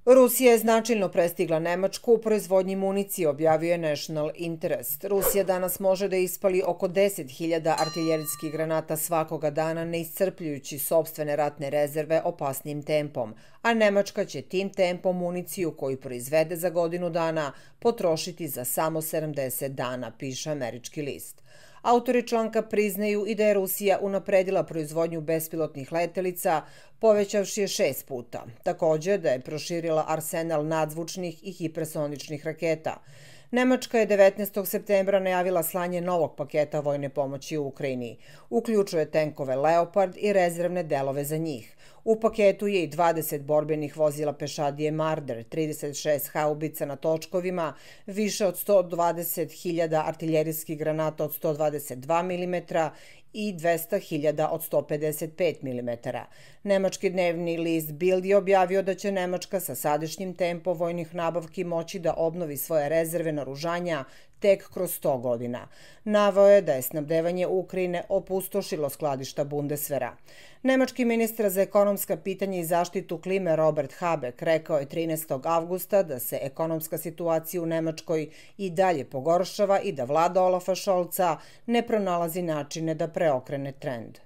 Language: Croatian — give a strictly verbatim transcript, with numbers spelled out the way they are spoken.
Rusija je značajno prestigla Nemačku u proizvodnji municije, objavio je National Interest. Rusija danas može da ispali oko deset hiljada artiljerijskih granata svakoga dana, ne iscrpljujući sopstvene ratne rezerve opasnim tempom, a Nemačka će tim tempom municiju koju proizvede za godinu dana potrošiti za samo sedamdeset dana, piše američki list. Autori članka priznaju i da je Rusija unapredila proizvodnju bespilotnih letelica, povećavši je šest puta. Također da je proširila arsenal nadzvučnih i hipersoničnih raketa. Nemačka je devetnaestog septembra najavila slanje novog paketa vojne pomoći u Ukrajini. Uključuje tenkove Leopard i rezervne delove za njih. U paketu je i dvadeset borbenih vozila pešadije Marder, trideset šest haubica na točkovima, više od sto dvadeset hiljada artiljerijskih granata od sto dvadeset dva milimetra i dvesta hiljada od sto pedeset pet milimetara. Nemački dnevni list Bild je objavio da će Nemačka sa sadašnjim tempom vojnih nabavki moći da obnovi svoje rezerve naoružanja tek kroz sto godina. Naveo je da je snabdevanje Ukrajine opustošilo skladišta Bundeswehra. Nemački ministar za ekonomska pitanja i zaštitu klime Robert Habeck rekao je trinaestog avgusta da se ekonomska situacija u Nemačkoj i dalje pogoršava i da vlada Olafa Scholza ne pronalazi načine da preokrene trend.